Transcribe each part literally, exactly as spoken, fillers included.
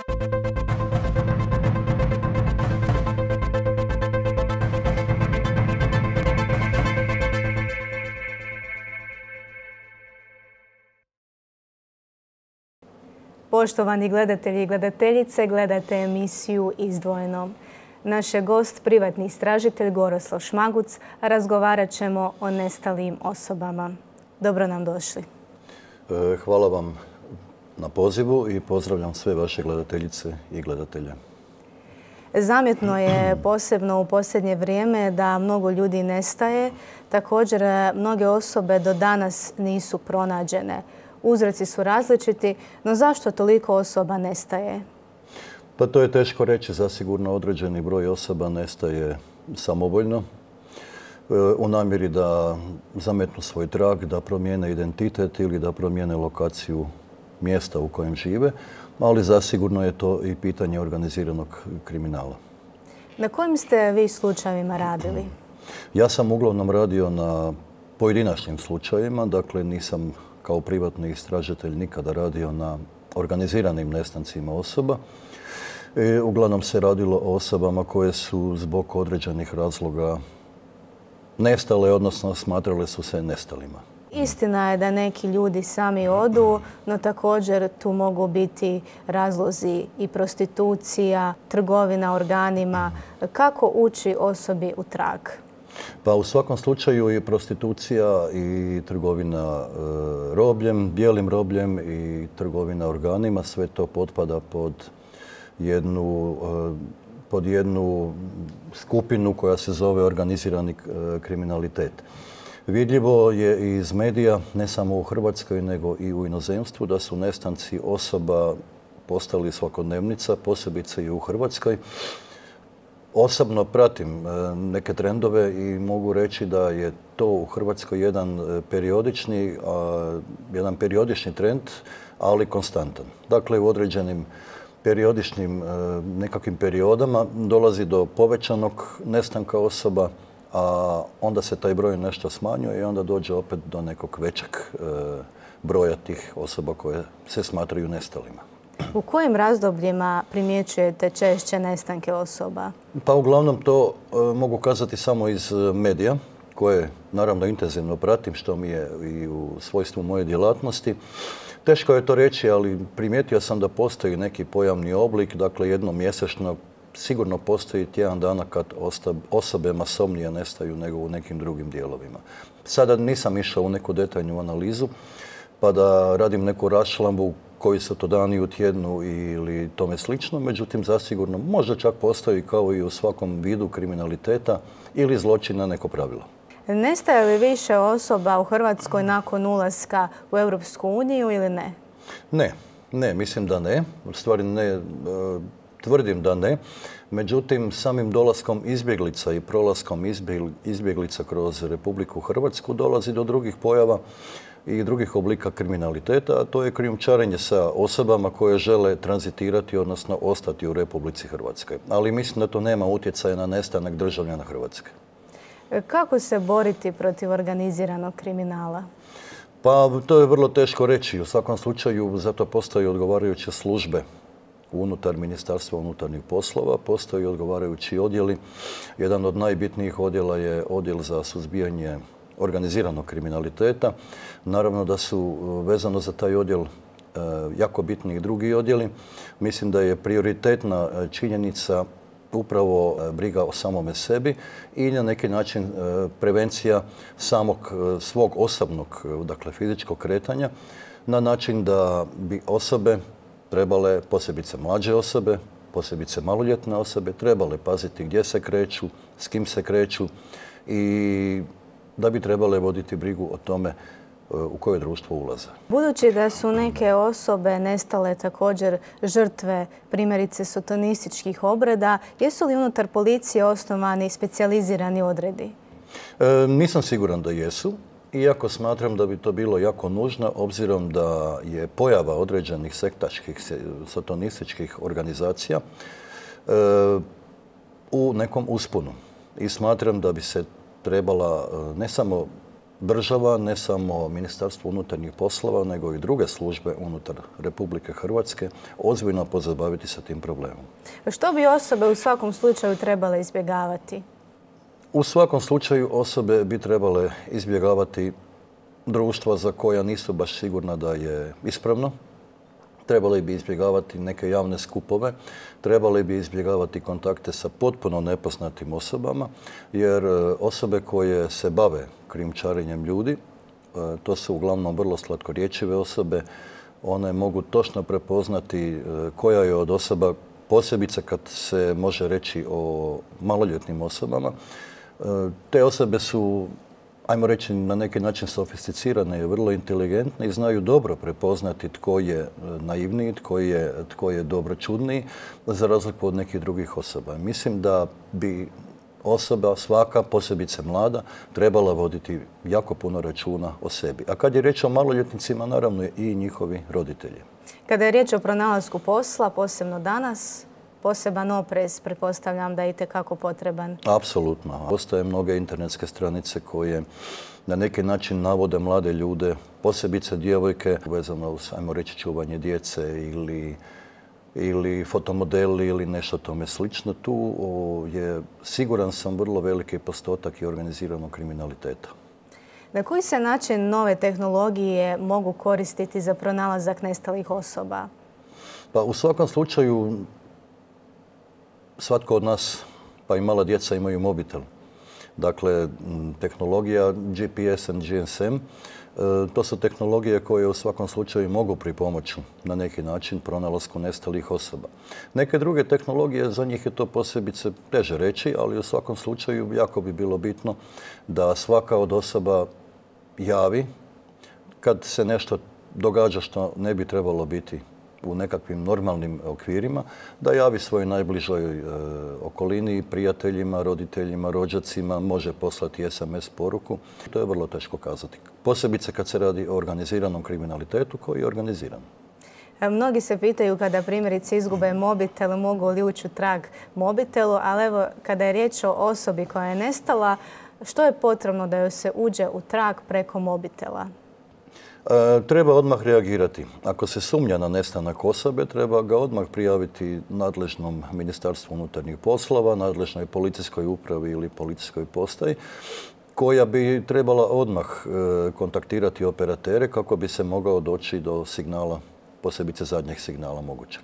Poštovani gledatelji i gledateljice, gledate emisiju Izdvojeno. Naš je gost privatni istražitelj Goroslav Šmaguc. Razgovarat ćemo o nestalim osobama. Dobro nam došli. Hvala vam na pozivu i pozdravljam sve vaše gledateljice i gledatelje. Zamjetno je posebno u posljednje vrijeme da mnogo ljudi nestaje. Također, mnoge osobe do danas nisu pronađene. Uzroci su različiti, no zašto toliko osoba nestaje? Pa to je teško reći. Zasigurno određeni broj osoba nestaje samovoljno u namjeri da zametnu svoj trag, da promijene identitet ili da promijene lokaciju mjesta u kojem žive, ali zasigurno je to i pitanje organiziranog kriminala. Na kojim ste vi slučajevima radili? Ja sam uglavnom radio na pojedinačnim slučajevima, dakle nisam kao privatni istražitelj nikada radio na organiziranim nestancima osoba. I uglavnom se radilo o osobama koje su zbog određenih razloga nestale, odnosno smatrale su se nestalima. Istina je da neki ljudi sami odu, no također tu mogu biti razlozi i prostitucija, trgovina organima. Kako ući osobi u trag? Pa u svakom slučaju i prostitucija i trgovina robljem, bijelim robljem i trgovina organima, sve to potpada pod jednu, pod jednu skupinu koja se zove organizirani kriminalitet. Vidljivo je iz medija, ne samo u Hrvatskoj, nego i u inozemstvu, da su nestanci osoba postali svakodnevnica, posebice i u Hrvatskoj. Osobno pratim neke trendove i mogu reći da je to u Hrvatskoj jedan periodični, jedan periodični trend, ali konstantan. Dakle, u određenim periodičnim nekakvim periodama dolazi do povećanog nestanka osoba, a onda se taj broj nešto smanjuje i onda dođe opet do nekog većeg broja tih osoba koje se smatraju nestalima. U kojim razdobljima primjećujete češće nestanke osoba? Pa uglavnom to mogu kazati samo iz medija, koje naravno intenzivno pratim, što mi je i u svojstvu moje djelatnosti. Teško je to reći, ali primijetio sam da postoji neki pojavni oblik, dakle jednom mjesečno sigurno postoji tjedan dana kad osobe masovnije nestaju nego u nekim drugim dijelovima. Sada nisam išao u neku detaljnu analizu pa da radim neku raščlambu koji su to dani u tjednu ili tome slično, međutim zasigurno možda čak postoji kao i u svakom vidu kriminaliteta ili zločina neko pravilo. Nestaje li više osoba u Hrvatskoj nakon ulaska u Europsku uniju ili ne? Ne, ne, mislim da ne. U stvari ne, tvrdim da ne. Međutim, samim dolaskom izbjeglica i prolaskom izbjeglica kroz Republiku Hrvatsku dolazi do drugih pojava i drugih oblika kriminaliteta, a to je krijumčarenje sa osobama koje žele tranzitirati, odnosno ostati u Republici Hrvatskoj. Ali mislim da to nema utjecaja na nestanak državljana Hrvatske. Kako se boriti protiv organiziranog kriminala? Pa to je vrlo teško reći. U svakom slučaju zato postoje odgovarajuće službe unutar Ministarstva unutarnjih poslova, postoji odgovarajući odjeli. Jedan od najbitnijih odjela je odjel za suzbijanje organiziranog kriminaliteta. Naravno da su vezano za taj odjel jako bitni i drugi odjeli. Mislim da je prioritetna činjenica upravo briga o samome sebi i na neki način prevencija samog svog osobnog, dakle fizičkog kretanja, na način da bi osobe trebale, posebice mlađe osobe, posebice maloljetne osobe, trebale paziti gdje se kreću, s kim se kreću i da bi trebale voditi brigu o tome u koje društvo ulaze. Budući da su neke osobe nestale također žrtve primjerice sotonističkih obreda, jesu li unutar policije osnovani specijalizirani odredi? E, nisam siguran da jesu, iako smatram da bi to bilo jako nužno, obzirom da je pojava određenih sektaških sotonističkih organizacija e, u nekom usponu. I smatram da bi se trebala ne samo država, ne samo Ministarstvo unutarnjih poslova, nego i druge službe unutar Republike Hrvatske ozbiljno pozabaviti sa tim problemom. Što bi osobe u svakom slučaju trebale izbjegavati? U svakom slučaju osobe bi trebale izbjegavati društva za koja nisu baš sigurna da je ispravno. Trebali bi izbjegavati neke javne skupove, trebali bi izbjegavati kontakte sa potpuno nepoznatim osobama, jer osobe koje se bave krijumčarenjem ljudi, to su uglavnom vrlo slatkorječive osobe, one mogu točno prepoznati koja je od osoba, posebice kad se može reći o maloljetnim osobama. Te osobe su, ajmo reći, na neki način sofisticirane i vrlo inteligentne i znaju dobro prepoznati tko je naivniji, tko je, tko je dobročudniji, za razliku od nekih drugih osoba. Mislim da bi osoba, svaka, posebice mlada, trebala voditi jako puno računa o sebi. A kad je riječ o maloljetnicima, naravno i njihovi roditelji. Kada je riječ o pronalasku posla, posebno danas, poseban oprez, pretpostavljam da je itekako potreban. Apsolutno. Postoje mnoge internetske stranice koje na neki način navode mlade ljude, posebice djevojke, vezano uz, ajmo reći, čuvanje djece ili, ili fotomodeli ili nešto tome slično. Tu je, siguran sam, vrlo veliki postotak i organiziranog kriminaliteta. Na koji se način nove tehnologije mogu koristiti za pronalazak nestalih osoba? Pa u svakom slučaju svatko od nas, pa i mala djeca, imaju mobitel. Dakle, tehnologija G P S i G S M, to su tehnologije koje u svakom slučaju mogu pripomoći na neki način pronalasku nestalih osoba. Neke druge tehnologije, za njih je to posebice teže reći, ali u svakom slučaju jako bi bilo bitno da svaka od osoba javi kad se nešto događa što ne bi trebalo biti u nekakvim normalnim okvirima, da javi svojoj najbližoj e, okolini, prijateljima, roditeljima, rođacima, može poslati S M S poruku. To je vrlo teško kazati. Posebice kad se radi o organiziranom kriminalitetu koji je organiziran. Mnogi se pitaju kada primjerice izgube mobitel, mogu li ući u trag mobitelu, ali evo, kada je riječ o osobi koja je nestala, što je potrebno da joj se uđe u trag preko mobitela? E, treba odmah reagirati. Ako se sumnja na nestanak osobe, treba ga odmah prijaviti nadležnom Ministarstvu unutarnjih poslova, nadležnoj policijskoj upravi ili policijskoj postaji, koja bi trebala odmah e, kontaktirati operatere kako bi se mogao doći do signala, posebice zadnjeg signala mogućeg.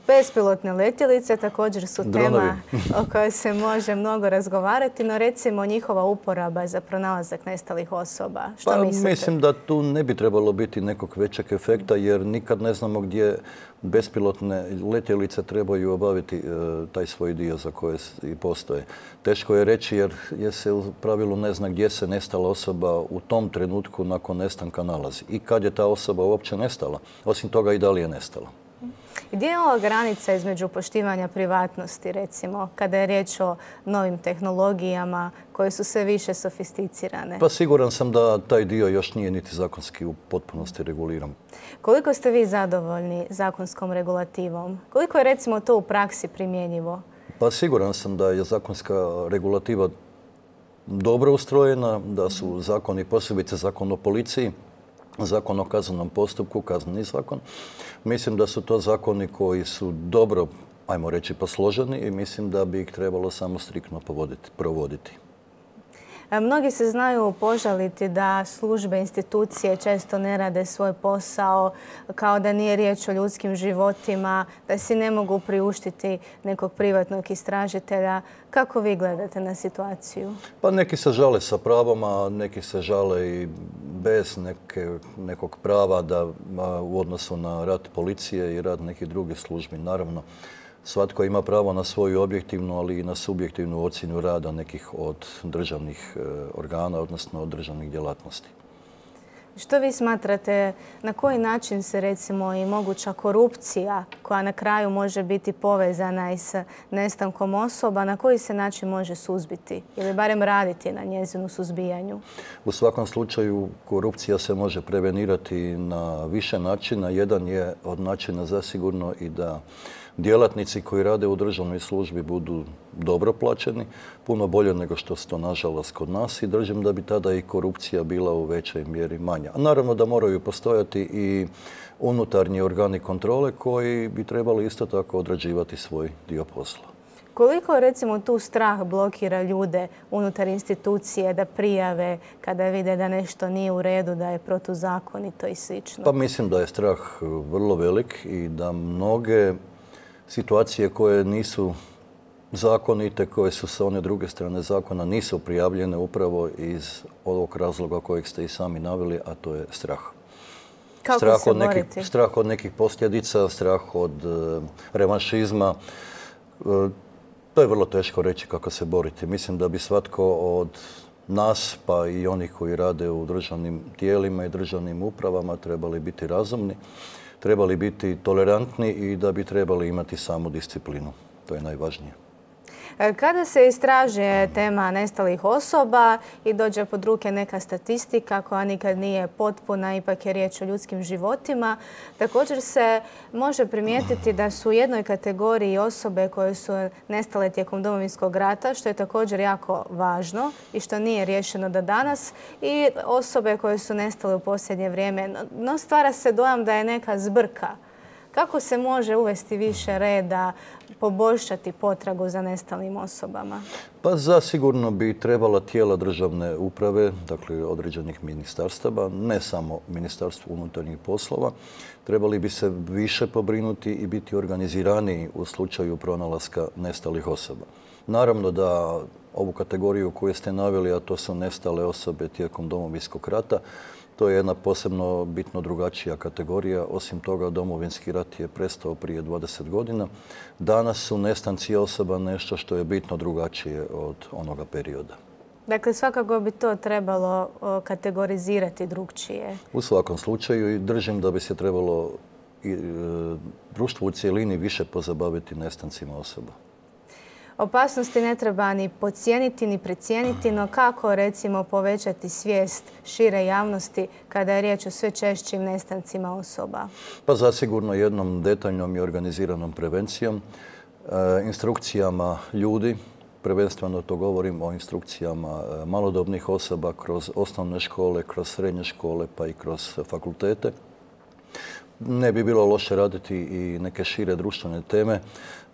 Bespilotne letjelice također su tema o kojoj se može mnogo razgovarati, no recimo njihova uporaba za pronalazak nestalih osoba. Što pa, mislite? Mislim da tu ne bi trebalo biti nekog većeg efekta, jer nikad ne znamo gdje bespilotne letjelice trebaju obaviti e, taj svoj dio za koje i postoje. Teško je reći jer, jer se u pravilu ne zna gdje se nestala osoba u tom trenutku nakon nestanka nalazi i kad je ta osoba uopće nestala. Osim toga i da li je nestala. Gdje je ova granica između poštivanja privatnosti, recimo, kada je riječ o novim tehnologijama koje su sve više sofisticirane? Pa siguran sam da taj dio još nije niti zakonski u potpunosti reguliran. Koliko ste vi zadovoljni zakonskom regulativom? Koliko je recimo to u praksi primjenjivo? Pa siguran sam da je zakonska regulativa dobro ustrojena, da su zakoni, posebice zakon o policiji, zakon o kaznenom postupku, kazneni zakon. Mislim da su to zakoni koji su dobro, ajmo reći, posloženi i mislim da bi ih trebalo samo striktno provoditi. Mnogi se znaju požaliti da službe, institucije često ne rade svoj posao, kao da nije riječ o ljudskim životima, da si ne mogu priuštiti nekog privatnog istražitelja. Kako vi gledate na situaciju? Pa neki se žale sa pravom, a neki se žale i bez neke, nekog prava da, u odnosu na rad policije i rad nekih drugih službi. Naravno, svatko ima pravo na svoju objektivnu, ali i na subjektivnu ocjenu rada nekih od državnih organa, odnosno od državnih djelatnosti. Što vi smatrate, na koji način se recimo i moguća korupcija koja na kraju može biti povezana i sa nestankom osoba, na koji se način može suzbiti ili barem raditi na njezinu suzbijanju? U svakom slučaju korupcija se može prevenirati na više načina. Jedan je od načina zasigurno i da djelatnici koji rade u državnoj službi budu dobro plaćeni, puno bolje nego što se to nažalost kod nas, i držim da bi tada i korupcija bila u većoj mjeri manja. A naravno da moraju postojati i unutarnji organi kontrole koji bi trebali isto tako odrađivati svoj dio posla. Koliko recimo tu strah blokira ljude unutar institucije da prijave kada vide da nešto nije u redu, da je protuzakonito i slično? Pa mislim da je strah vrlo velik i da mnoge situacije koje nisu zakonite, koje su sa one druge strane zakona, nisu prijavljene upravo iz ovog razloga kojeg ste i sami naveli, a to je strah. Kako strah se od nekih, boriti? strah od nekih posljedica, strah od e, revanšizma. E, to je vrlo teško reći kako se boriti. Mislim da bi svatko od nas, pa i onih koji rade u državnim tijelima i državnim upravama, trebali biti razumni, trebali biti tolerantni i da bi trebali imati samu disciplinu. To je najvažnije. Kada se istražuje tema nestalih osoba i dođe pod ruke neka statistika koja nikad nije potpuna, ipak je riječ o ljudskim životima, također se može primijetiti da su u jednoj kategoriji osobe koje su nestale tijekom Domovinskog rata, što je također jako važno i što nije riješeno do danas, i osobe koje su nestale u posljednje vrijeme. No, stvara se dojam da je neka zbrka. Kako se može uvesti više reda, poboljšati potragu za nestalim osobama? Pa zasigurno bi trebala tijela državne uprave, dakle određenih ministarstava, ne samo Ministarstvo unutarnjih poslova, trebali bi se više pobrinuti i biti organiziraniji u slučaju pronalaska nestalih osoba. Naravno da ovu kategoriju koju ste naveli, a to su nestale osobe tijekom Domovinskog rata, to je jedna posebno bitno drugačija kategorija. Osim toga, Domovinski rat je prestao prije dvadeset godina. Danas su nestanci osoba nešto što je bitno drugačije od onoga perioda. Dakle, svakako bi to trebalo kategorizirati drugčije. U svakom slučaju i držim da bi se trebalo i, e, društvo u cijelini više pozabaviti nestancima osoba. Opasnosti ne treba ni podcijeniti ni precijeniti, no kako recimo povećati svijest šire javnosti kada je riječ o sve češćim nestancima osoba? Pa zasigurno jednom detaljnom i organiziranom prevencijom, e, instrukcijama ljudi, prvenstveno to govorim o instrukcijama malodobnih osoba kroz osnovne škole, kroz srednje škole pa i kroz fakultete. Ne bi bilo loše raditi i neke šire društvene teme,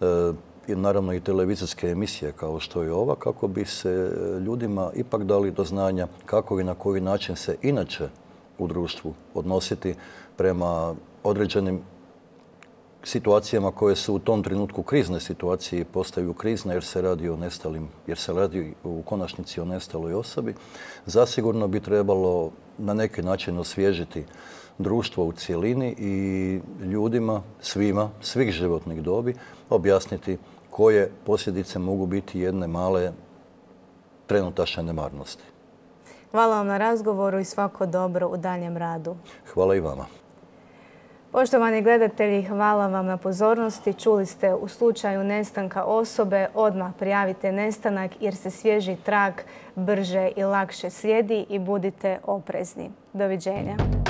e, i naravno i televizijske emisije kao što je ova, kako bi se ljudima ipak dali do znanja kako i na koji način se inače u društvu odnositi prema određenim situacijama koje su u tom trenutku krizne situacije i postaju krizne jer se radi o nestalim, jer se radi u konačnici o nestaloj osobi. Zasigurno bi trebalo na neki način osvježiti društvo u cjelini i ljudima, svima, svih životnih dobi, objasniti koje posljedice mogu biti jedne male trenutačne nemarnosti. Hvala vam na razgovoru i svako dobro u daljem radu. Hvala i vama. Poštovani gledatelji, hvala vam na pozornosti. Čuli ste, u slučaju nestanka osobe odmah prijavite nestanak jer se svježi trag brže i lakše slijedi i budite oprezni. Doviđenja.